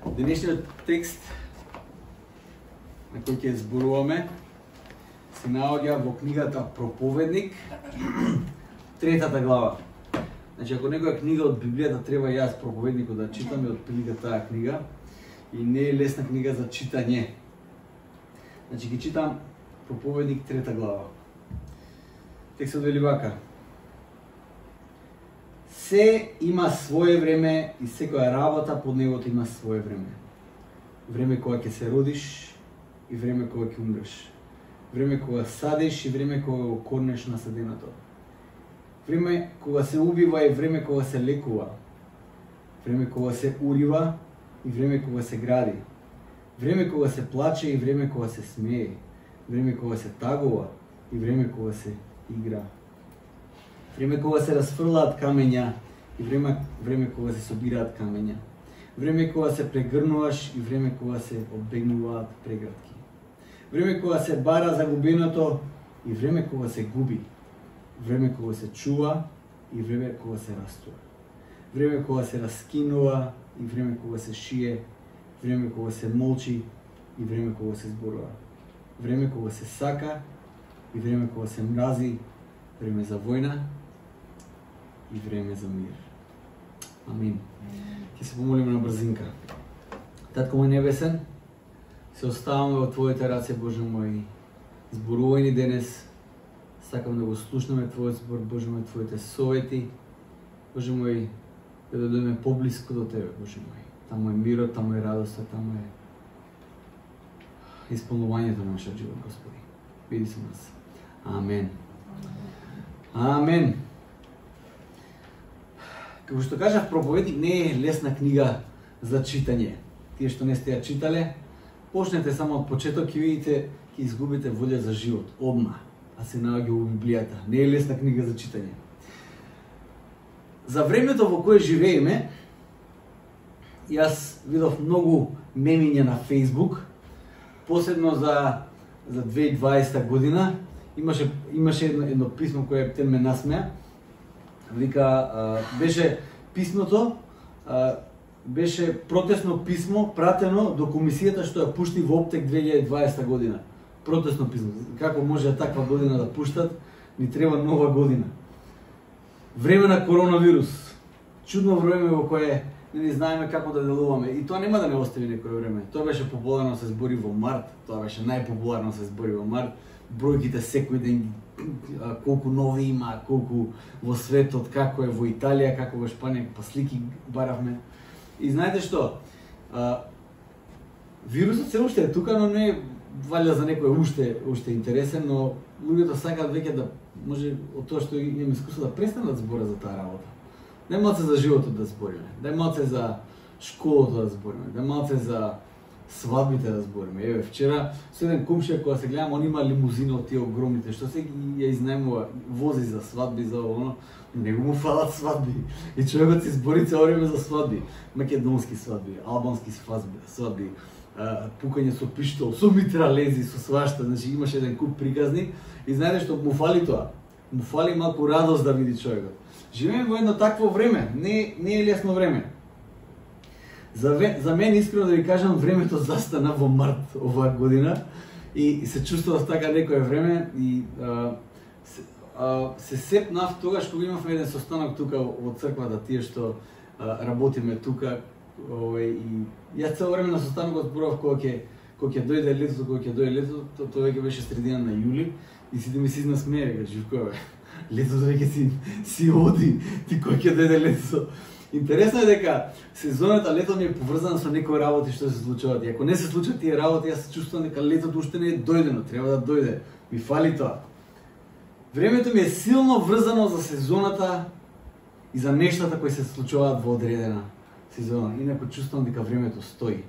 Денешниот текст на кој ќе зборуваме се наоѓа во книгата Проповедник, 3-та глава. Значи, ако некоја книга од Библијата треба јас Проповедникот да читаме, отприлика таа книга, и не е лесна книга за читање. Значи, ќе читам Проповедник 3-та глава. Текстот вели вака: се има свое време и секоја работа под небото има свое време. Време кога ќе се родиш и време кога ќе умреш. Време кога садиш и време кога го корнеш насаденото. Време кога се убива и време кога се лекува. Време кога се урива и време кога се гради. Време кога се плаче и време кога се смее. Време кога се тагува и време кога се игра. Време кога се расфрлаат камења и време кога се собираат камења. Време кога се прегрнуваш и време кога се одбегнуваат прегратки. Време кога се бара загубеното и време кога се губи. Време кога се чува и време кога се растува. Време кога се раскинува и време кога се шие. Време кога се молчи и време кога се зборува. Време кога се сака и време кога се мрази. Време за војна и време за мир. Амин. Ќе се помолиме на брзинка. Татко мој небесен, се оставаме во Твоите раце, Боже мој. Зборувај ни денес. Сакам да го слушнеме Твојот збор, Боже мој, Твоите совети. Боже мој, да дојдеме поблиску до Тебе, Боже мој. Таму е мирот, таму е радоста, таму е исполнувањето на нашиот живот, Господи. Биди со нас. Амен. Амен. Како што кажав, Проповедник не е лесна книга за читање. Тие што не сте ја читале, почнете само од почеток и видите, ќе изгубите волја за живот, одма, а се наоѓа во Библијата. Не е лесна книга за читање. За времето во кое живееме, јас видов многу мемиња на Facebook, посебно за 2020 година. Имаше едно писмо кое ме насмеа. Вика, беше писмото, беше протестно писмо пратено до комисијата што ја пушти во Оптек 2020 година. Протестно писмо. Како може таква година да пуштат? Ни треба нова година. Време на коронавирус. Чудно време во кое не знаеме како да делуваме. И тоа нема да не остави некое време. Тоа беше популарно се збори во март. Тоа беше најпопуларно се збори во март. Бројките секој ден, колку нови има, колку во светот, како е во Италија, како во Шпанија, па слики баравме. И знаете што? Вирусот се уште е тука, но не е валја за некој уште интересен, но луѓето сакаат веќе да може од тоа што имаме искуство да престанат да зборат за таа работа. Дај малце за животот да збориме, дај малце за школото да збориме, дај малце за свадбите да збориме. Еве, вчера со еден комшија кога се гледам, он има лимузина од тие огромните, што се ја изнајмува, вози за свадби, за оно, него му фалат свадби. И човекот се збори цело време за свадби. Македонски свадби, албански свадби, пукање со пиштол, со митралези, со свашта, значи имаше еден куп приказни. И знаете што му фали тоа? Му фали малку радост да види човекот. Живееме во едно такво време, не е лесно време. За мен, искрено да ви кажам, времето застана во март оваа година и се чувствував така некое време и се сепнав тогаш кога имавме еден состанок тука во црквата, тие што работиме тука, и јас цело време на состанокот зборував кога ќе дојде летото, тоа веќе беше средина на јули и сите ми се изнасмеа, река, Живко, летото веќе си оди, ти кога ќе дојде летото. Интересно е дека сезоната лето ми е поврзана со некои работи што се случуваат. И ако не се случат тие работи, јас се чувствувам дека летото уште не е дојдено, треба да дојде. Ми фали тоа. Времето ми е силно врзано за сезоната и за нештата кои се случуваат во одредена сезона. Инаку чувствувам дека времето стои.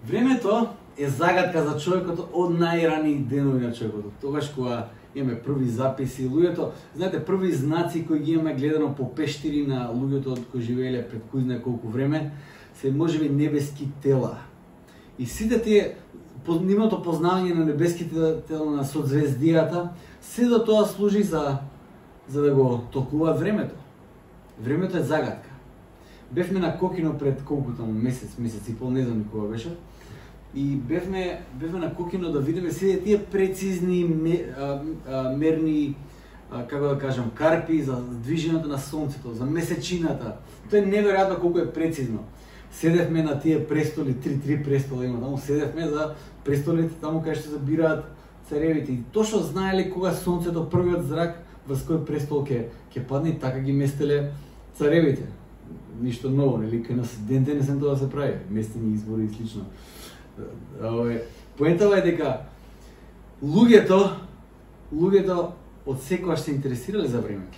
Времето е загадка за човекот од најрани денови на човекот. Тогаш кога имаме први записи, луѓето, знаете, први знаци кои ги имаме гледано по пештери на луѓето кои живееле пред кој знае колку време, се можеби небески тела. И сите тие нивното познавање на небеските тела на созвездијата, се до тоа служи за да го толкуваат времето. Времето е загадка. Бевме на Кокино пред колку таму месец и пол, не знам кога беше. И бевме на Кокино да видиме сите тие прецизни мерни, како да кажам, карпи за движењето на сонцето, за месечината. Тоа е неверојатно колку е прецизно. Седевме на тие престоли, три престола има таму, седевме за престолите таму кај што се бираат царевите. И точно знаеле кога сонцето, првиот зрак врз кој престол ќе падне, и така ги местеле царевите. Ништо ново, нели, кај нас ден денес тоа се прави, местени избори и слично. Поентава е дека луѓето од секогаш се интересирале за времето.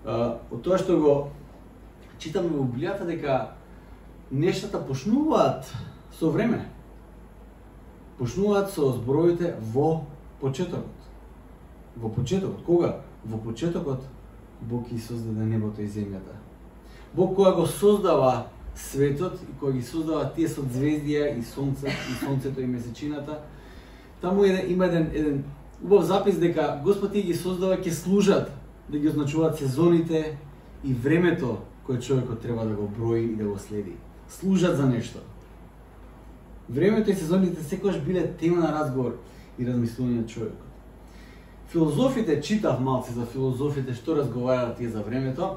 Од тоа што го читаме во Библијата, дека нештата почнуваат со време. Почнуваат со зборовите во почетокот. Во почетокот. Кога? Во почетокот Бог ги создаде небото и земјата. Бог кога го создава светот и кога ги создава тие созвездија и сонцето и месечината, таму има еден убав запис дека Господ ги создава ќе служат да ги означуваат сезоните и времето кое човекот треба да го брои и да го следи. Служат за нешто. Времето и сезоните секогаш биле тема на разговор и размислување на човекот. Филозофите, читав малце за филозофите што разговараат тие за времето.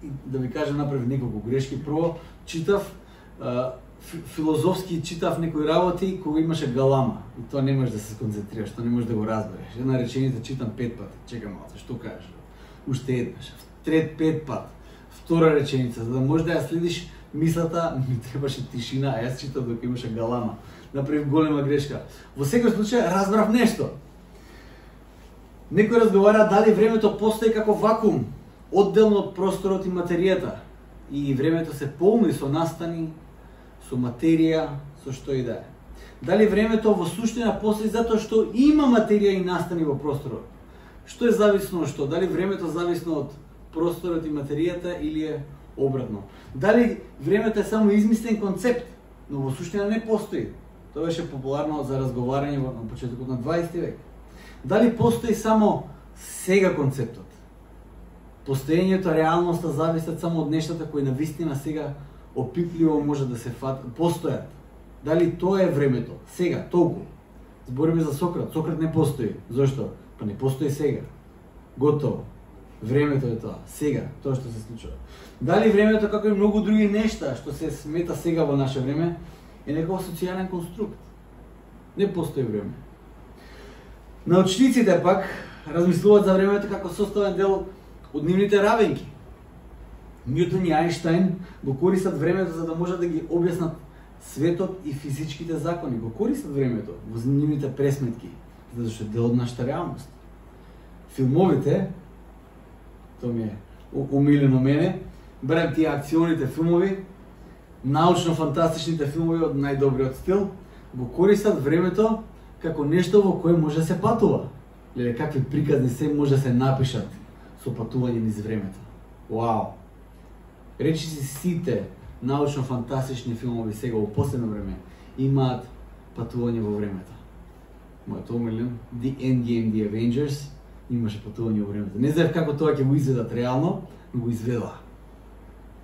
И да ви кажам, направив неколку грешки. Прво, читав филозофски, читав некои работи кога имаше галама. И тоа не можеш да се сконцентрираш, тоа не можеш да го разбереш. Една реченица читам 5 пати. Чекам малце, што кажеш? Уште еднаш, трет 5 пат. Втора реченица, за да можеш да ја следиш мислата, ми требаше тишина, а јас читав докато имаше галама. Направив голема грешка. Во секој случај разбрав нешто. Некој разговара дали времето постои како вакуум, одделно од просторот и материјата. И времето се полни со настани, со материја, со што и да е. Дали времето во суштина постои затоа што има материја и настани во просторот? Што е зависно од што? Дали времето зависно од просторот и материјата или е обратно? Дали времето е само измислен концепт, но во суштина не постои? Тоа беше популарно за разговарање на почетокот на 20 век. Дали постои само сега концептот? Постоењето, реалноста зависат само од нештата кои навистина сега опипливо може да се постојат. Дали тоа е времето? Сега, толку. Збориме за Сократ. Сократ не постои. Зошто? Па не постои сега. Готово. Времето е тоа. Сега, тоа што се случува. Дали времето, како и многу други нешта што се смета сега во наше време, е некој социјален конструкт? Не постои време. Научниците пак размислуваат за времето како составен дел од нивните равенки. Ньютон и Ајнштајн го користат времето за да можат да ги објаснат светот и физичките закони. Го користат времето во нивните пресметки, зашто е дел од нашата реалност. Филмовите, тоа ми е омилено мене, барем тие акционите филмови, научно-фантастичните филмови од најдобриот стил, го користат времето како нешто во кое може да се патува. Леле, какви приказни се може да се напишат со патување низ времето. Вау! Речиси сите научно-фантастични филмови сега во последно време имаат патување во времето. Мојот омилен, The Endgame, The Avengers, имаше патување во времето. Не знаев како тоа ќе го изведат реално, но го изведаа.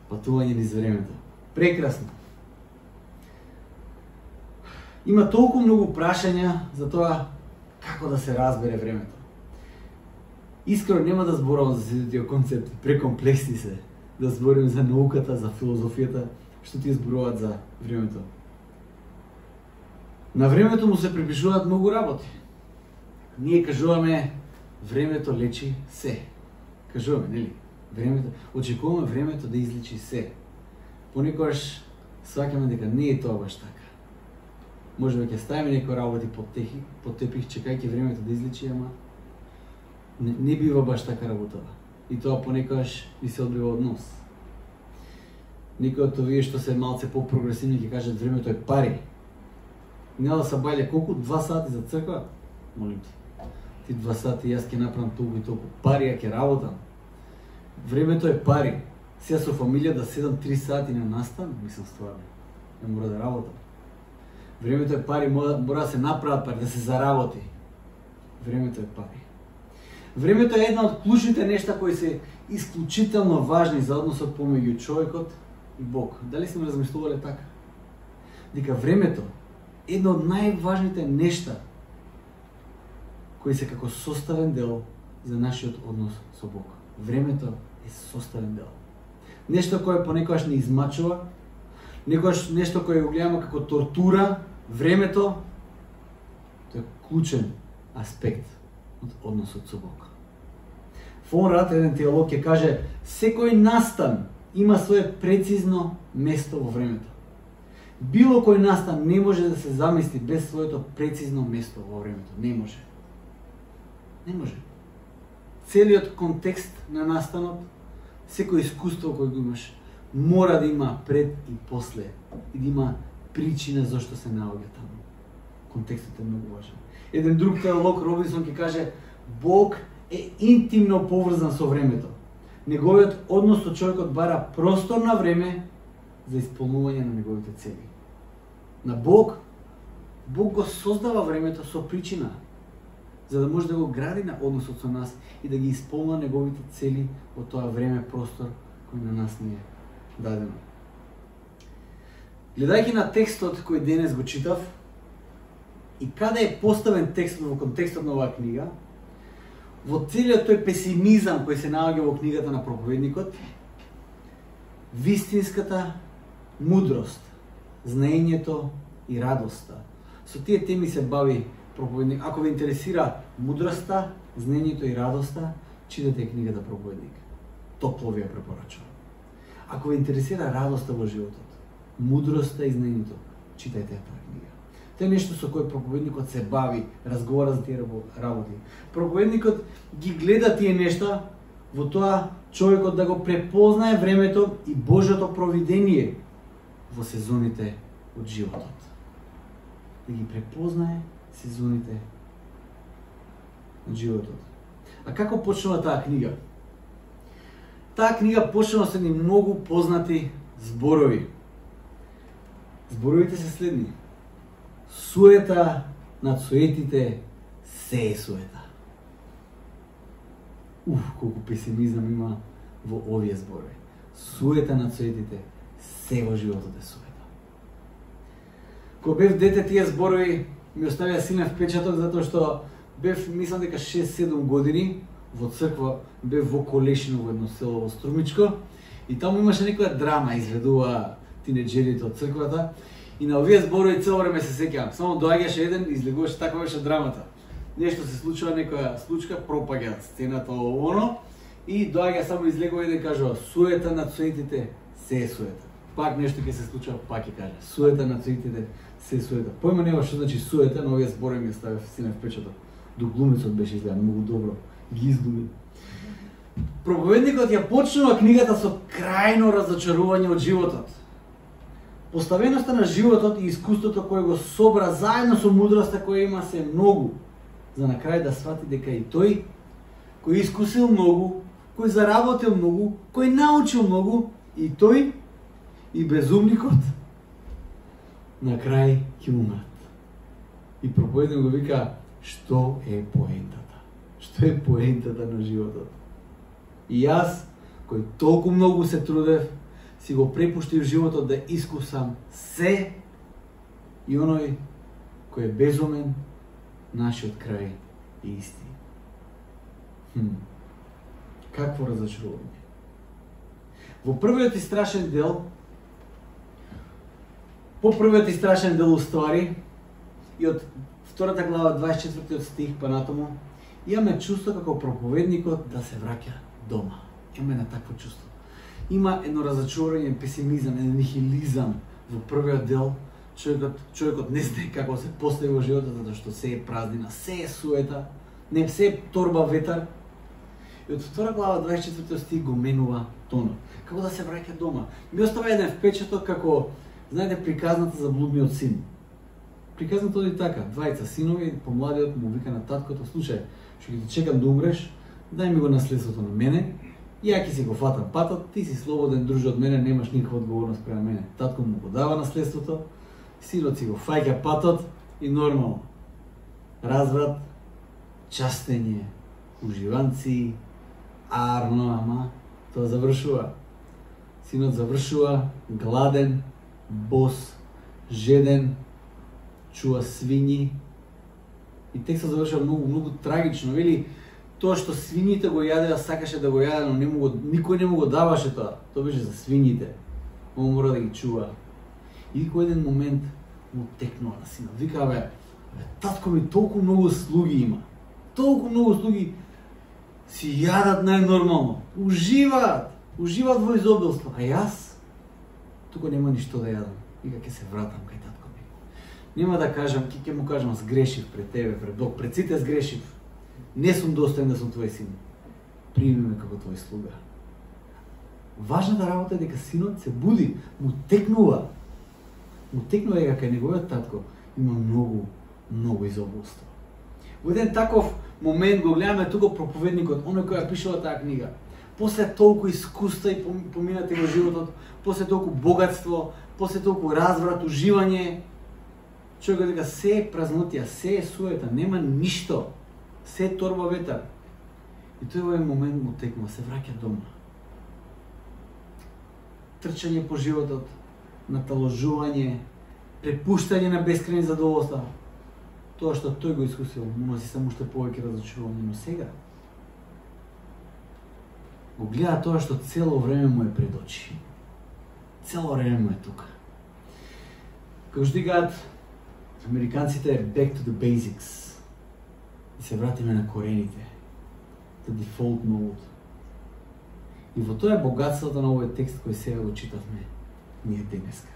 Патување низ времето. Прекрасно. Има толку многу прашања за тоа како да се разбере времето. Искрено нема да зборувам за сите тие концепти, прекомплексни се, да зборим за науката, за филозофијата, што тие зборуваат за времето. На времето му се припишуваат многу работи. Ние кажуваме времето лечи се. Кажуваме, нели? Времето, очекуваме времето да излечи се. Понекогаш сваќаме дека не е тоа баш така. Може да ќе ставиме некои работи под тепих, чекајќи времето да излечи, ама не бива баш така работава. И тоа понекогаш и се одбива од нос. Некои од овие што се малце по-прогресивни ќе кажат времето е пари. Нема да се бајле колку? 2 сати за црква? Молим ти. Ти 2 сати јас ќе направам толку и толку. Пари ја ќе работам. Времето е пари. Сега со фамилија да седам 3 сати на настан, мислам стварно. Не мора да работам. Времето е пари, мора да се направат пари, да се заработи. Времето е пари. Времето е една од клучните нешта кои се исклучително важни за односот помеѓу човекот и Бог. Дали сме размислувале така? Дека времето е едно од најважните нешта кои се како составен дел за нашиот однос со Бог. Времето е составен дел. Нешто кое понекогаш не измачува, некогаш нешто кое го гледаме како тортура, времето, тоа е клучен аспект од односот со Бог. Фон Рад, еден теолог, ќе каже: секој настан има свое прецизно место во времето. Било кој настан не може да се замисли без своето прецизно место во времето. Не може. Не може. Целиот контекст на настанот, секој искуство кој го имаш, мора да има пред и после и да има причина зашто се наоѓа таму. Контекстот е многу важен. Еден друг теолог, Робинсон, ќе каже: Бог е интимно поврзан со времето. Неговиот однос со човекот бара простор на време за исполнување на неговите цели. На Бог го создава времето со причина, за да може да го гради на односот со нас и да ги исполнува неговите цели во тоа време, простор кој на нас ни е дадено. Гледајќи на текстот кој денес го читав и каде е поставен текстот во контекстот на оваа книга, во целиот тој песимизам кој се наоѓа во книгата на проповедникот, вистинската мудрост, знаењето и радоста. Со тие теми се бави проповедник. Ако ве интересира мудроста, знаењето и радоста, читате книгата Проповедник. Топло ви ја препорачувам. Ако ве интересира радоста во животот, мудроста и знаењето, читајте таа книга. Тоа е нешто со кое проповедникот се бави, разговара за тие работи. Проповедникот ги гледа тие нешта во тоа човекот да го препознае времето и Божјото провидение во сезоните од животот. Да ги препознае сезоните од животот. А како почнува таа книга? Таа книга почнува со едни многу познати зборови. Зборовите се следни: суета над суетите се е суета. Колку песимизам има во овие зборови. Суета над суетите се во животот е суета. Кога бев дете, тие зборови ми оставија силен впечаток, затоа што бев, мислам дека 6-7 години, во црква, бев во Колешино, во едно село во Струмичко, и таму имаше некоја драма, изведува тинеџерите од црквата, и на овие зборови цело време се сеќавам. Само доаѓаше еден и излегуваше, таква беше драмата. Нешто се случува, некоја случка, пропаѓа сцената оно, и доаѓа само излегува еден и кажува: суета над суетите се е суета. Пак нешто ќе се случува, пак ќе каже: суета над суетите се е суета. Појма нема што значи суета, но овие зборови ми оставија силен впечаток. До глумецот беше изгледа многу добро, ги изглуми. Проповедникот ја почнува книгата со крајно разочарување од животот. Поставеноста на животот и искуството кое го собра заедно со мудроста која има се многу, за на крај да свати дека и тој кој искусил многу, кој заработил многу, кој научил многу, и тој и безумникот на крај ќе умрат. И проповедник го вика: што е поентата? Што е поентата на животот? И јас, кој толку многу се трудев, си го препуштив животот да искусам се, и оној кој е безумен, нашиот крај е исти. Какво разочарување. Во првиот и страшен дел, по првиот и страшен дел уствари, и од втората глава, 24 стих па натаму, имаме чувство како проповедникот да се враќа дома. Имаме на такво чувство. Има едно разочарување, песимизам, еден нихилизам во првиот дел. Човекот не знае како се постави во животот, затоа што се е празнина, се е суета, не се е торба ветар. И од втора глава, 24 стих го менува тонот. Како да се враќа дома. Ми остава еден впечаток како, знаете, приказната за блудниот син. Приказната оди така: двајца синови, помладиот му вика на таткото: слушај, што ќе те чекам да умреш, дај ми го наследството на мене, ја ќе си го фатам патот, ти си слободен, друже од мене, немаш никаква одговорност према мене. Татко му го дава наследството, синот си го фаќа патот и нормално. Разврат, частење, уживанци, арно, ама тоа завршува. Синот завршува гладен, бос, жеден, чува свињи. И текстот завршува многу трагично, вели тоа што свињите го јадеа, сакаше да го јаде, но никој не му го даваше тоа. Тоа беше за свињите. Он мора да ги чува. И кој еден момент му текнува на синот. Вика, бе, татко ми толку многу слуги има. Толку многу слуги си јадат најнормално. Уживаат во изобилство. А јас тука нема ништо да јадам. Вика, ќе се вратам кај татко ми. Нема да кажам, ќе му кажам, сгрешив пред тебе, пред Бог, пред сите сгрешив. Не сум достоен да сум твој син. Прими ме како твој слуга. Важната работа е дека синот се буди, му текнува дека кај неговиот татко има многу изобилство. Во еден таков момент го гледаме тука проповедникот, оној кој ја пишува таа книга. После толку искуства и поминати во животот, после толку богатство, после толку разврат, уживање, човекот дека се е празнотија, се е суета, нема ништо, се е торба ветар. И тој во еден момент му текнува, се враќа дома. Трчање по животот, наталожување, препуштање на бескрајни задоволства. Тоа што тој го искусил, му носи само уште повеќе разочарување, но сега го гледа тоа што цело време му е пред очи. Цело време му е тука. Како што кажат американците, back to the basics. И се вратиме на корените. The default mode. И во тоа е богатството на овој текст кој сега го читавме ние денеска.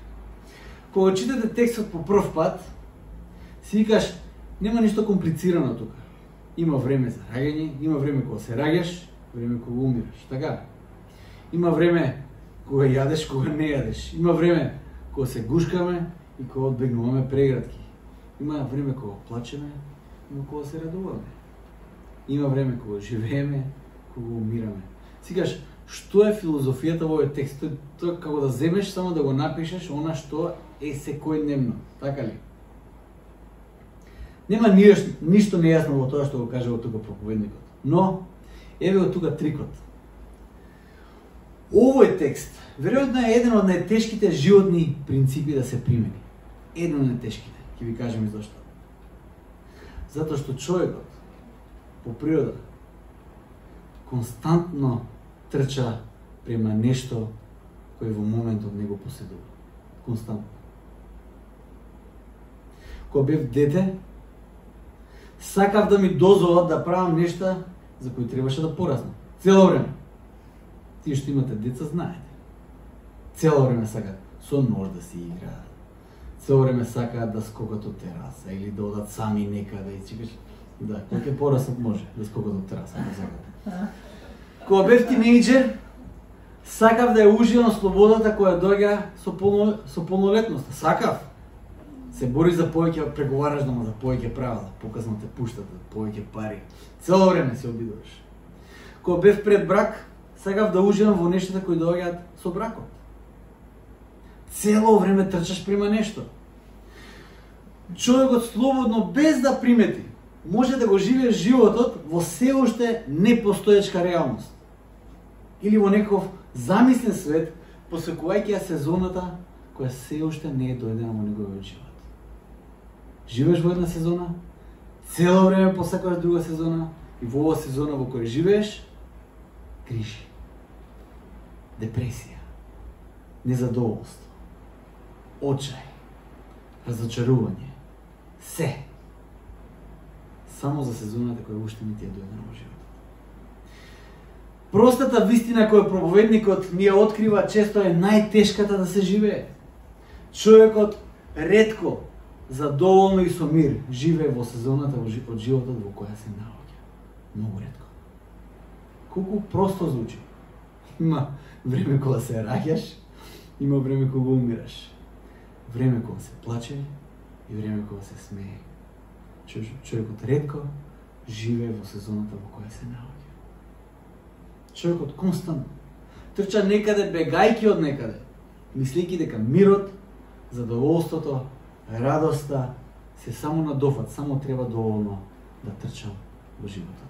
Кога читате текстот по прв пат, си викаш, нема ништо комплицирано тука. Има време за раѓање, има време кога се раѓаш, време кога умираш, така? Има време кога јадеш, кога не јадеш. Има време кога се гушкаме и кога одбегнуваме преградки. Има време кога плачеме, има кога се радуваме. Има време кога живееме, кога умираме. Сикаш, што е филозофијата во овој текст? Тоа како да земеш само да го напишеш она што е секојдневно, така ли? Нема ништо нејасно во тоа што го кажа во тука проповедникот. Но еве го тука трикот. Овој текст веројатно е еден од најтешките животни принципи да се примени. Еден од најтешките, ќе ви кажам и зошто. Затоа што човекот по природа константно трча према нешто кој во моментот не го поседува. Константно. Кога бев дете, сакав да ми дозволат да правам нешта за кои требаше да пораснам. Цело време. Тие што имате деца знаете. Цело време сакаат со нож да си играат. Цело време сакаат да скокат од тераса или да одат сами некаде и чекаш. Да, кога ќе пораснат може да скокат од тераса, да сакат. Кога бев тинејџер, сакав да ја уживам слободата која доаѓа со полнолетноста. Сакав. Се бориш за повеќе, преговараш дома за повеќе права, показно те пуштат, повеќе пари. Цело време се обидуваш. Кога бев пред брак, сакав да уживам во нештата кои доаѓаат со бракот. Цело време трчаш према нешто. Човекот слободно, без да примети, може да го живее животот во се уште непостоечка реалност. Или во некаков замислен свет, посекувајќи ја сезоната која се уште не е дојдена во неговиот живот. Живееш во една сезона, цело време посакуваш друга сезона и во оваа сезона во која живееш, криши, депресија, незадоволство, очај, разочарување, се. Само за сезоната која уште не ти е дојдена во животот. Простата вистина која проповедникот ни ја открива често е најтешката да се живее. Човекот ретко, задоволно и со мир живее во сезоната од животот во која се наоѓа. Многу ретко. Колку просто звучи. Има време кога се раѓаш, има време кога умираш. Време кога се плаче и време кога се смее. Човекот ретко живее во сезоната во која се наоѓа. Човекот константно трча некаде, бегајќи од некаде, мислејќи дека мирот, задоволството, радоста се само на дофат, само треба доволно да трчам во животот.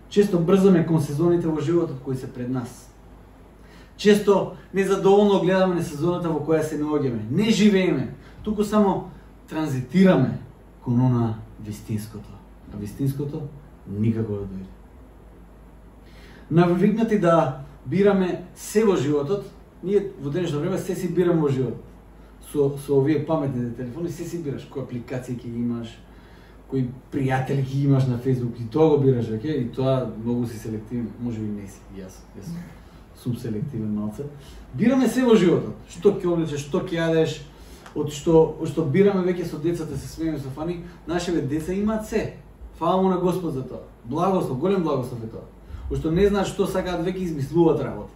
Често брзаме кон сезоните во животот кои се пред нас. Често незадоволно гледаме на сезоната во која се наоѓаме. Не живееме, туку само транзитираме кон она вистинското. А вистинското никако да дојде. Навикнати да бираме се во животот, ние во денешно време се си бираме во животот. Со овие паметни телефони се си бираш кои апликации ќе ги имаш, кои пријатели ќе ги имаш на Facebook, и тоа го бираш веќе, и тоа многу си селективен, можеби не си, јас сум селективен малце. Бираме се во животот, што ќе облечеш, што ќе јадеш, од што бираме веќе со децата, се смееме со Фани, нашите деца имаат се. Фала му на Господ за тоа. Благослов, голем благослов е тоа. Што не знаат што сакаат, веќе измислуваат работа.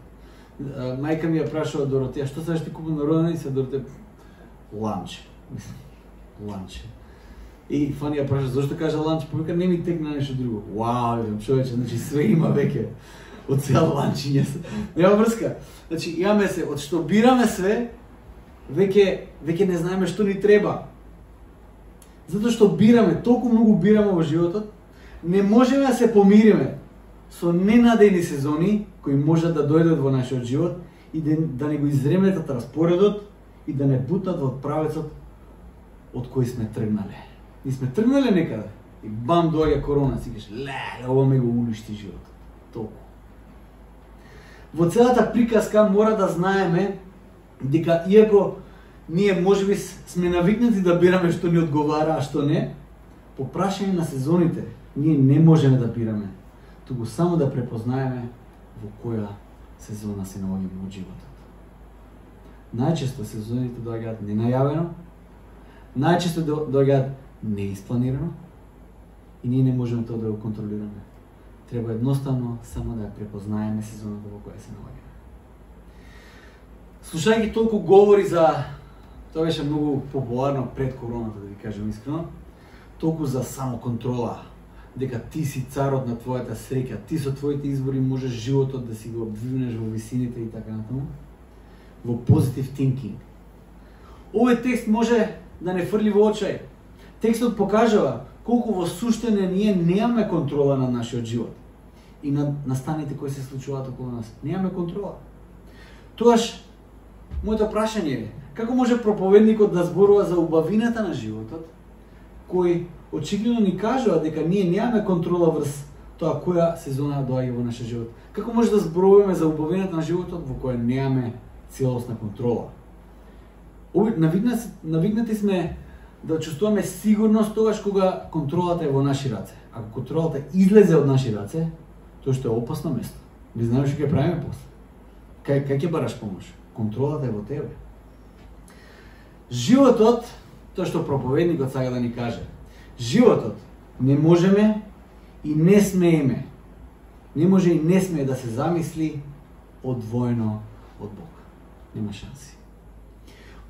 Мајка ми ја прашува Доротеја, што сакаш ти купам на роденден, и се Доротеја ланч. Ланч. И Фани ја праша зошто кажа ланч, повика не ми текна нешто друго. Вау, човече, значи све има веќе. Од цел ланчиње. Нема врска. Значи имаме се, од што бираме све, веќе не знаеме што ни треба. Затоа што бираме, толку многу бираме во животот, не можеме да се помириме со ненадејни сезони кои можат да дојдат во нашиот живот и да не го изреметат распоредот и да не бутат во правецот од кој сме тргнале. Ние сме тргнале некаде и бам доаѓа корона, си кажеш, леле, ова ме го уништи животот. Толку. Во целата приказка мора да знаеме дека иако ние можеби сме навикнати да бираме што ни одговара, а што не, по прашање на сезоните ние не можеме да бираме, туку само да препознаеме во која сезона се наоѓаме во животот. Најчесто сезоните доаѓаат ненајавено, најчесто доаѓаат неиспланирано и ние не можеме тоа да го контролираме. Треба едноставно само да ја препознаеме сезоната во која се наоѓаме. Слушајќи толку говори за, тоа беше многу популарно пред короната, да ви кажам искрено, толку за самоконтрола, дека ти си царот на твојата среќа, ти со твоите избори можеш животот да си го обвивнеш во висините и така натаму, во positive thinking. Овој текст може да не фрли во очај. Текстот покажува колку во суштина ние немаме контрола на нашиот живот и на станите кои се случуваат околу нас. Немаме контрола. Тоаш, моето прашање е, како може проповедникот да зборува за убавината на животот, кој очигледно ни кажува дека ние немаме контрола врз тоа која сезона доаѓа во нашиот живот? Како може да зборуваме за убавината на животот во која немаме целосна контрола? Навикнати сме да чувствуваме сигурност тогаш кога контролата е во наши раце. Ако контролата излезе од наши раце, тоа што е опасно место. Не знаеш што ќе правиме после. Кај ќе бараш помош? Контролата е во тебе. Животот, тоа што проповедникот сака да ни каже, животот не можеме и не смееме. Не може и не смее да се замисли одвоено од Бог. Нема шанси.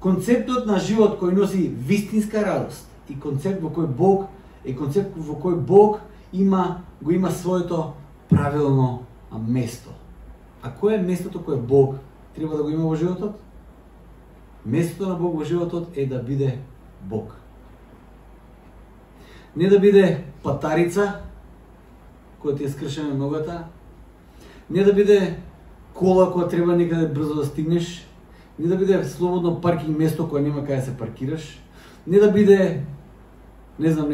Концептот на живот кој носи вистинска радост и концепт во кој Бог го има своето правилно место. А кој е местото кое Бог треба да го има во животот? Местото на Бог во животот е да биде Бог. Не да биде патарица која ти е скршена ногата, не да биде кола која треба некаде брзо да стигнеш, не да биде слободно паркинг место кое нема каде се паркираш, не да биде, не знам,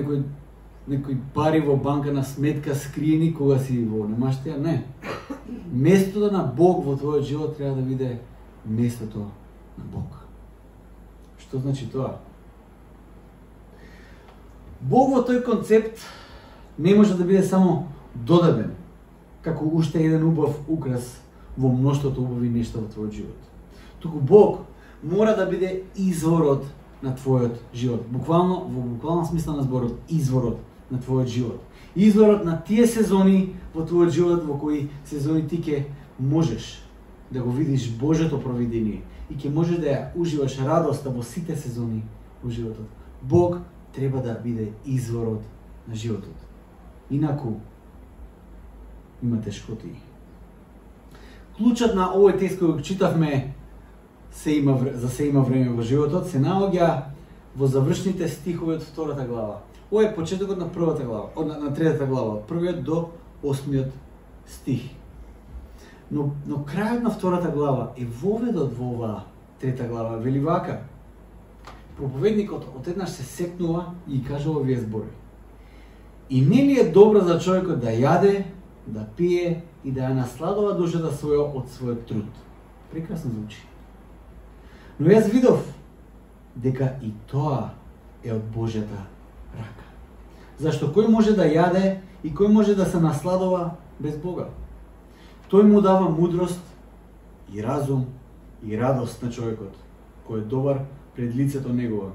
некој пари во банка на сметка скриени кога си во немаштија, не. Местото на Бог во твојот живот треба да биде местото на Бог. Што значи тоа? Бог во тој концепт не може да биде само додаден, како уште еден убав украс во мноштвото убави нешта во твојот живот. Туку Бог мора да биде изворот на твојот живот. Буквално, во буквален смисла на зборот, изворот на твојот живот. Изворот на тие сезони во твојот живот во кои сезони ти ќе можеш да го видиш Божјото провидение и ќе можеш да ја уживаш радоста во сите сезони во животот. Бог треба да биде изворот на животот. Инаку има тешкоти. Клучот на овој текст кој го читавме за се има време во животот се наоѓа во завршните стихови од втората глава. Ова е почетокот на првата глава, на третата глава, од првиот до 8 стих. Но крајот на 2 глава е воведот во оваа 3 глава. Вели вака: проповедникот одеднаш се секнува и кажува овие зборови: и не ли е добро за човекот да јаде, да пие и да ја насладува душата своја од својот труд? Прекрасно звучи. Но јас видов дека и тоа е од Божјата рака. Зашто кој може да јаде и кој може да се насладува без Бога? Тој му дава мудрост и разум и радост на човекот, кој е добар пред лицето негово.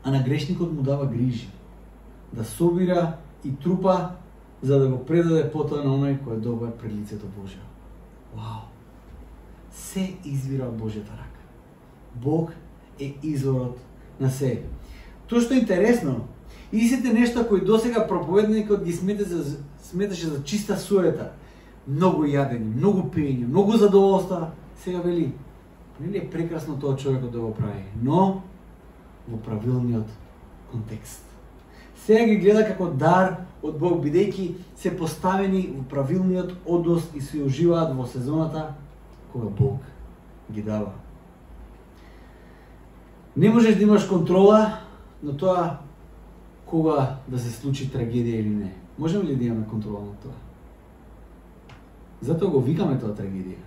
А на грешникот му дава грижи, да собира и трупа, за да го предаде потоа на оној кој е добар пред лицето Божјо. Вау! Се извира од Божјата рака. Бог е изворот на се. Тоа што е интересно, истите нешта кои досега проповедникот ги сметаше за чиста суета, многу јадење, многу пиење, многу задоволства, сега вели: нели е прекрасно тоа човекот да го прави, но во правилниот контекст. Сега ги гледа како дар од Бог, бидејќи се поставени во правилниот однос и се уживаат во сезоната кога Бог ги дава. Не можеш да имаш контрола на тоа кога да се случи трагедија или не. Можеме ли да имаме контрола на тоа? Затоа го викаме тоа трагедија.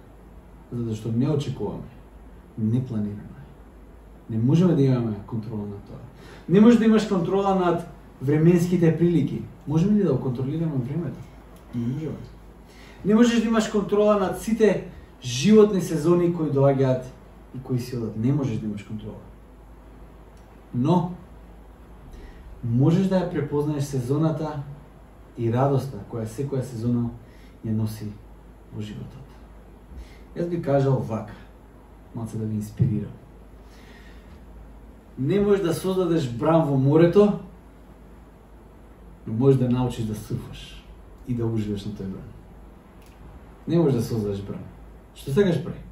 Затоа што не очекуваме, не планираме. Не можеме да имаме контрола на тоа. Не можеш да имаш контрола над временските прилики. Можеме ли да го контролираме времето? Не можеме. Не можеш да имаш контрола над сите животни сезони кои доаѓаат и кои си одат. Не можеш да имаш контрола. Но можеш да ја препознаеш сезоната и радоста која секоја сезона ја носи во животот. Јас би кажал вака, малце да ви инспирирам. Не можеш да создадеш бран во морето, но можеш да научиш да сурфаш и да уживаш на тој бран. Не можеш да создадеш бран. Што сакаш прави?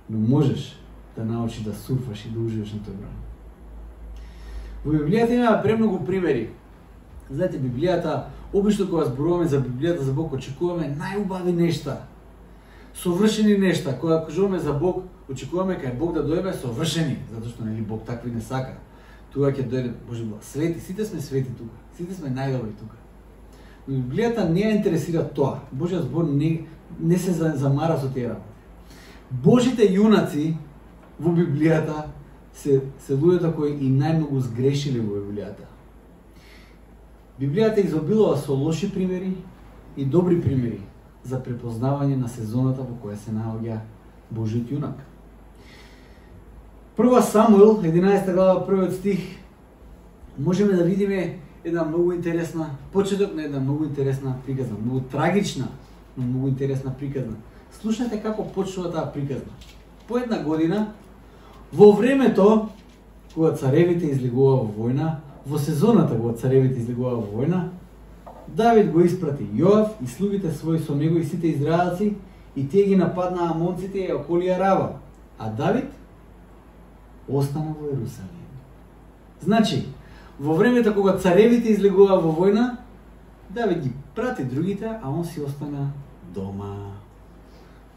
Но можеш да научиш да сурфаш и да уживаш на тој бран. Во Библијата има премногу примери. Знаете, Библијата, обично кога зборуваме за Библијата, за Бог, очекуваме најубави нешта, совршени нешта. Кога кажуваме за Бог, очекуваме кај Бог да дојде совршени, затоа што нели Бог такви не сака. Тука ќе дојде Божи благ. Свети, сите сме свети тука. Сите сме најдобри тука. Но Библијата не ја интересира тоа. Божјиот збор не се замара со тие работи. Божите јунаци во Библијата се луѓето кои и најмногу сгрешиле во Библијата. Библијата изобилува со лоши примери и добри примери за препознавање на сезоната во која се наоѓа Божиот јунак. 1 Самуил, 11 глава, 1 стих, можеме да видиме една многу интересна, почеток на една многу интересна приказна, многу трагична, но многу интересна приказна. Слушате како почнува таа приказна. По една година, во времето кога царевите излегува во војна, во сезоната кога царевите излегува во војна, Давид го испрати Јоав и слугите своји со него и сите израелци, и тие ги нападнаа амонците и околија Рава, а Давид остана во Ерусалим. Значи, во времето кога царевите излегува во војна, Давид ги прати другите, а он си остана дома.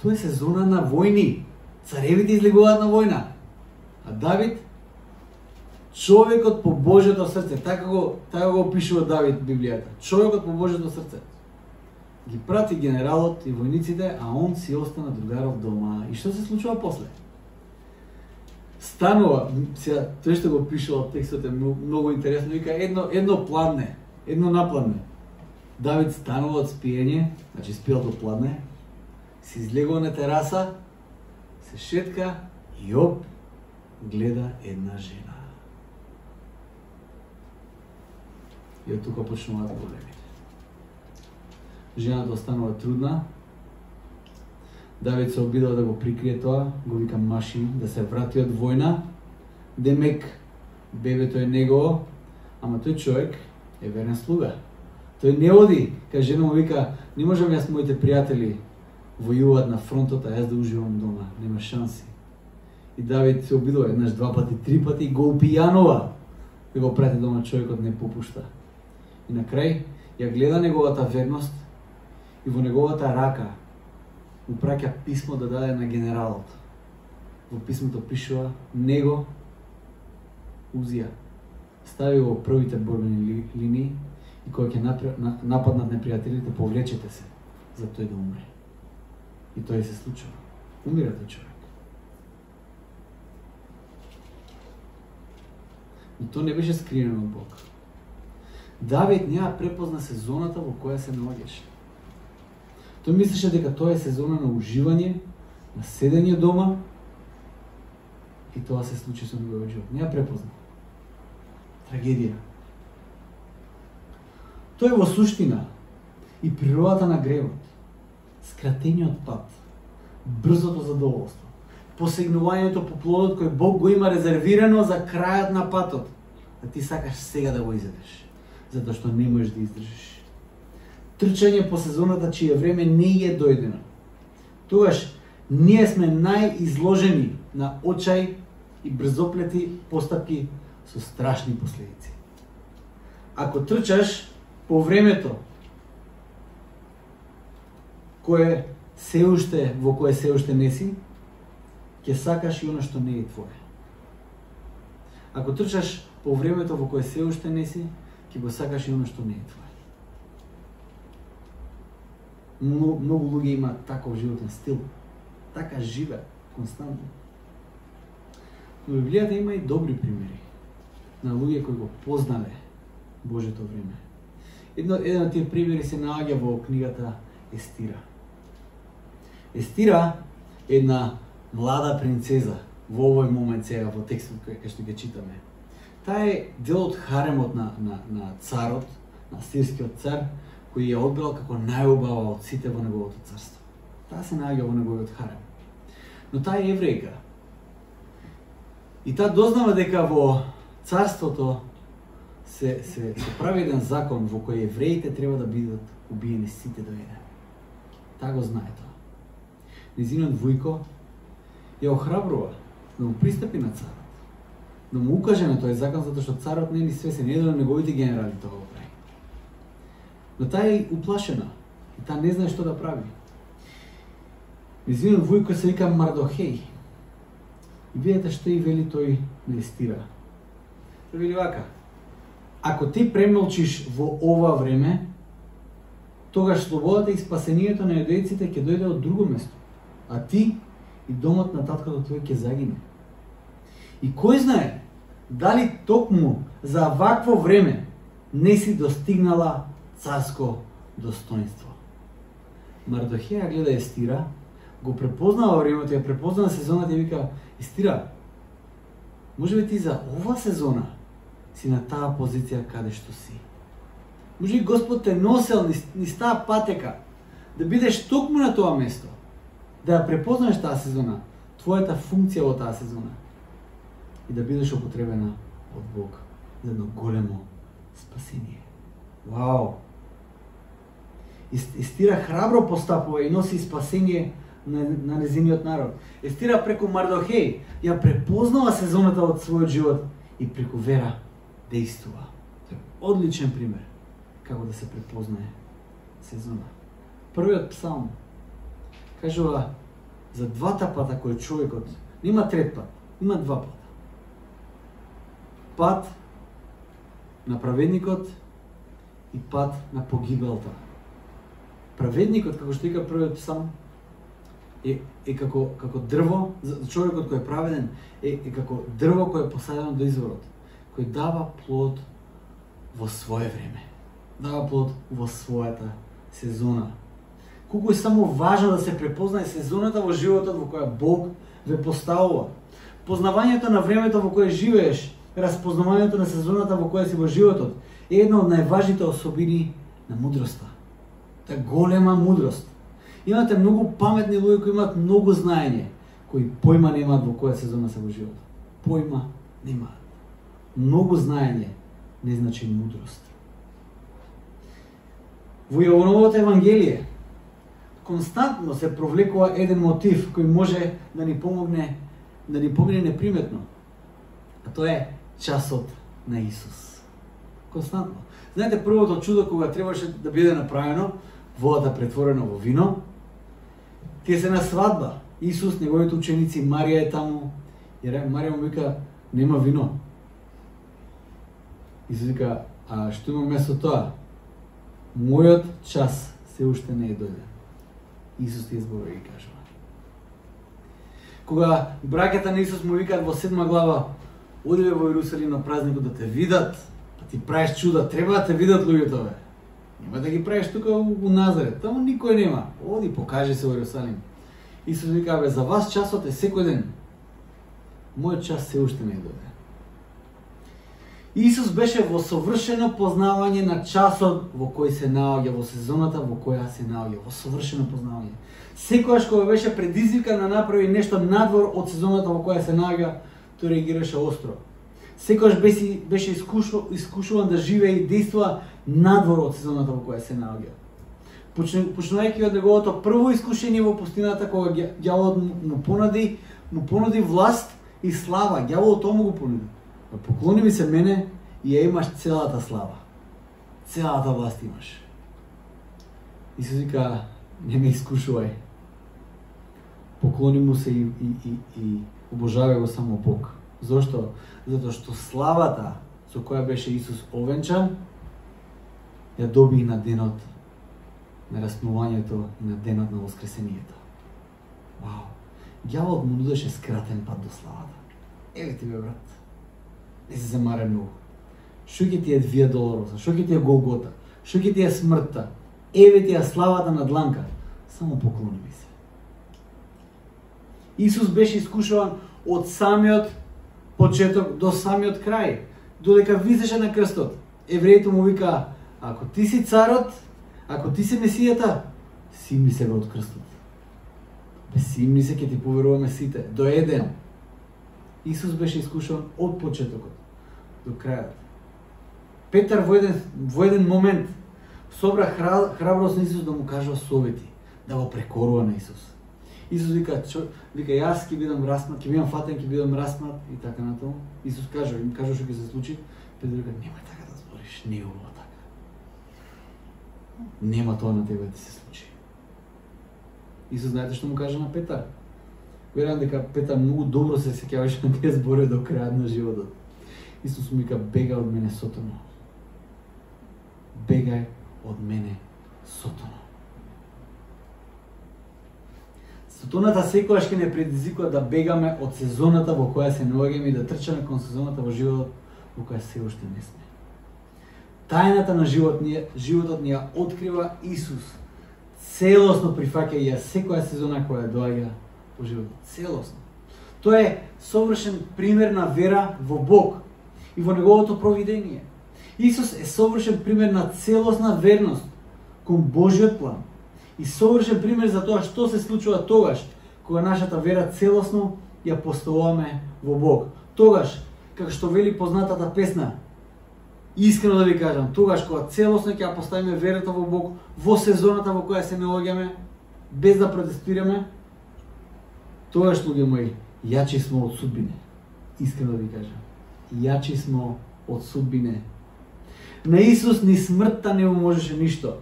Тоа е сезона на војни. Царевите излегуваат на војна. А Давид, човекот по Божјото срце, така го опишува Давид в Библијата. Човекот по Божјото срце. Ги прати генералот и војниците, а он си остана другаров дома. И што се случува после? Станува, сега тој што го пишува текстот е многу интересно, вика едно пладне, едно напладне. Давид станува од спиење, значи спиел до пладне, се излегува на тераса, се шетка и оп, гледа една жена. И од тука почнуваат проблемите. Жената останува трудна. Давид се обидува да го прикрие тоа, го вика маши да се врати од војна. Демек бебето е негово, ама тој човек е верен слуга. Тој не оди, кај жена му вика, не можам јас моите пријатели војуваат на фронтот, а јас да уживам дома, нема шанси. И Давид се обидува еднаш, два пати, три пати, го упијанува да го прати дома, човекот не попушта. И на крај ја гледа неговата верност и во неговата рака му праќа писмо да даде на генералот. Во писмото пишува: него Узија стави во првите борбени линии и кога ќе нападнат непријателите, повлечете се за тој да умре. И тој се случува. Умира тој човек. Но тоа не беше скриено од Бог. Давид не препозна сезоната во која се наоѓаше. Тој мислеше дека тоа е сезона на уживање, на седење дома, и тоа се случи со неговиот живот. Не ја препозна. Трагедија. Тоа е во суштина и природата на гревот, скратениот пат, брзото задоволство, посегнувањето по плодот кој Бог го има резервирано за крајот на патот, а ти сакаш сега да го изедеш, затоа што не можеш да издржиш. Трчање по сезоната чие време не е дојдено. Тогаш ние сме најизложени на очај и брзоплети постапки со страшни последици. Ако трчаш по времето кое се уште во кое се уште не си, ќе сакаш и оно што не е твое. Ако трчаш по времето во кое се уште не си, ќе го сакаш и оно што не е твое. Многу луѓе имаат таков животен стил. Така живе константно. Но Библијата има и добри примери на луѓе кои го познале Божето време. Еден од тие примери се наоѓа во книгата Естира. Естира е една млада принцеза во овој момент сега во текстот кој што ги читаме. Таа е дел од харемот на царот, на сирскиот цар, кој ја одбрал како најубава од сите во неговото царство. Таа се наоѓа во неговиот харем. Но таа е еврејка. И таа дознава дека во царството се прави еден закон во кој евреите треба да бидат убиени сите до еден. Таа го знае тоа. Незиниот вујко ја охрабрува да му пристапи на царот, да му укаже на тој закон, затоа што царот не е ни свесен, еден од неговите генерали тоа го прави. Но таа е уплашена и таа не знае што да прави. Незиниот вујко се вика Мардохеј. И видете што и вели тој на Естира. Тој вели вака: ако ти премолчиш во ова време, тогаш слободата и спасението на јудејците ќе дојде од друго место, а ти и домот на таткото твој ќе загине. И кој знае дали токму за вакво време не си достигнала царско достоинство. Мардохеја гледа Естира, го препознава времето, ја препознава сезоната и вика: Естира, може би ти за ова сезона си на таа позиција каде што си. Може би Господ те носел низ таа патека, да бидеш токму на тоа место, да ја препознаеш таа сезона, твојата функција во таа сезона, и да бидеш употребена од Бог за едно големо спасение. Вау! Естира храбро постапува и носи спасение на незиниот народ. Естира преку Мардохеј ја препознава сезоната од својот живот и преку вера действува. Тоа е одличен пример како да се препознае сезона. Првиот псалм кажува за двата пата кои човекот нема трет пат, има два пата. Пат на праведникот и пат на погибелта. Праведникот, како што вика првиот псалм, е како дрво, за човекот кој е праведен, е како дрво кој е посадено до изворот, кој дава плод во свое време, дава плод во својата сезона. Колку е само важно да се препознае сезоната во животот во која Бог ве поставува. Познавањето на времето во кое живееш, разпознавањето на сезоната во која си во животот е една од најважните особини на мудроста. Та голема мудрост. Имате многу паметни луѓе кои имаат многу знаење, кои појма немаат во која сезона се во животот. Појма немаат. Многу знаење не значи мудрост. Во Јовановото Евангелие константно се провлекува еден мотив кој може да ни помогне неприметно. А тоа е часот на Исус. Константно. Знаете, првото чудо кога требаше да биде направено водата претворена во вино. Тие се на свадба. Исус, неговите ученици, Марија е таму. И Марија му вика, нема вино. Исус вика, а што има место тоа? Мојот час се уште не е дојден. Исус ти зборува и кажува. Кога браќата на Исус му викаат во 7 глава, одиве во Јерусалим на празникот да те видат, да ти правиш чуда, треба да те видат луѓето бе. Нема да ги правиш тука у Назарет, таму никој нема. Оди, покажи се во Јерусалим. Исус вика, бе, за вас часот е секој ден. Мојот час се уште не е дојден. Исус беше во совршено познавање на часот во кој се наоѓа, во сезоната во која се наоѓа, во совршено познавање. Секогаш кога беше предизвикан да направи нешто надвор од сезоната во која се наоѓа, тој реагираше остро. Секогаш беше искушуван да живее и действува надвор од сезоната во која се наоѓа. Почнувајќи од неговото прво искушение во пустината, кога ѓаволот му понуди власт и слава, ѓаволот тоа му го понуди. Поклони ми се мене и ја имаш целата слава. Целата власт имаш. Исус вика, не ме искушувај. Поклони му се и обожавај го само Бог. Зошто? Затоа што славата со која беше Исус овенчан, ја доби на денот на распнувањето и на денот на воскресението. Вау! Ѓаволот му нудеше скратен пат до славата. Еве ти бе, брат. Не се замаре многу. Шо ќе ти е Вија Долороса? Шо ќе ти е Голгота? Шо ќе ти е смртта? Еве ти е славата на дланка. Само поклони ми се. Исус беше искушуван од самиот почеток до самиот крај, додека висеше на крстот. Евреите му вика, ако ти си царот, ако ти си Месијата, симни се од крстот. Симни се, ќе ти поверуваме сите, до еден. Исус беше искушуван од почетокот до крајот. Петар во еден момент собра храброст на Исус да му кажува совети, да го прекорува на Исус. Исус вика, јас ќе бидам распнат, ќе бидам фатен, ќе бидам распнат и така натаму. Исус им кажува што ќе се случи. Петар вика, немај така да збориш, не е ова така. Нема тоа на тебе да се случи. Исус знаете што му кажа на Петар? Верувам дека Петар многу добро се сеќаваше на тие зборови до крајот на животот. Исус му вика, бегај од мене, Сотоно. Бегај од мене, Сотоно. Сотоната секогаш ќе не предизвикува да бегаме од сезоната во која се наоѓаме и да трчаме кон сезоната во животот во која се уште не сме. Тајната на животот ни ја открива Исус. Целосно прифаќа ја секоја сезона која доаѓа во животот. Целосно. Тоа е совршен пример на вера во Бог и во неговото провидение. Исус е совршен пример на целосна верност кон Божиот план. И совршен пример за тоа што се случува тогаш кога нашата вера целосно ја поставуваме во Бог. Тогаш, како што вели познатата песна, искрено да ви кажам, тогаш кога целосно ќе ја поставиме верата во Бог во сезоната во која се наоѓаме, без да протестираме, тогаш, луѓе мои, јачи смо од судбине. Искрено да ви кажам. Јачи смо од судбине. На Исус ни смртта не му можеше ништо.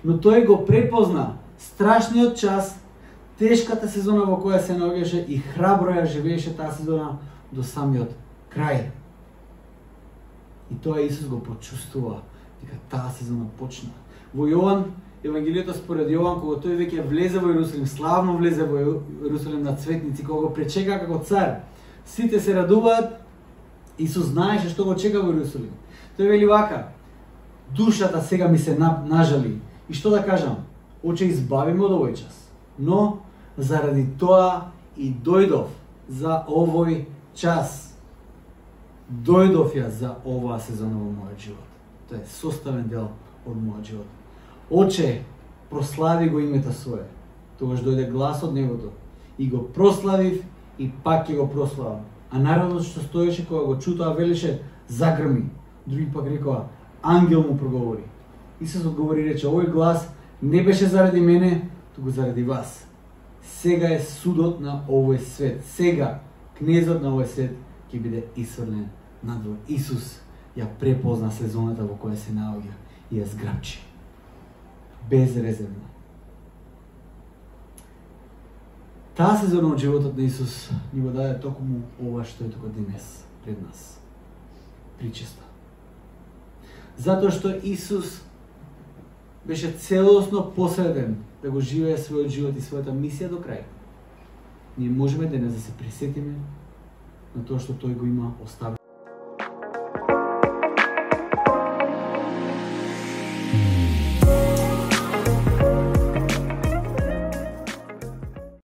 Но тој го препозна страшниот час, тешката сезона во која се наоѓаше и храбро ја живееше таа сезона до самиот крај. И тоа Исус го почувствува, дека таа сезона почна. Во Јован, Евангелието според Јован, кога тој веќе влезе во Јерусалим, славно влезе во Јерусалим на цветници, кога го пречека како цар, сите се радуваат, Исус знаеше што го чека во Јерусалим. Тој вели вака, душата сега ми се нажали. И што да кажам? Оче избавиме од овој час. Но, заради тоа и дојдов за овој час. Дојдов ја за оваа сезона во мојот живот. Тоа е составен дел од мојот живот. Оче, прослави го името свое. Тогаш дојде глас од небото. И го прославив и пак ќе го прославам. А народот што стоеше кога го чу тоа велеше, загрми. Други пак рекоа, ангел му проговори. Исус одговори и рече, овој глас не беше заради мене, туку заради вас. Сега е судот на овој свет. Сега кнезот на овој свет ќе биде исфрлен надвор. Исус ја препозна сезоната во која се наоѓа и ја зграбчи. безрезервно. Таа сезона од животот на Исус ни го даде токму ова што е тука денес пред нас. Причеста. Затоа што Исус беше целосно посветен да го живее својот живот и својата мисија до крај. Ние можеме денес да се присетиме на тоа што тој го има оставено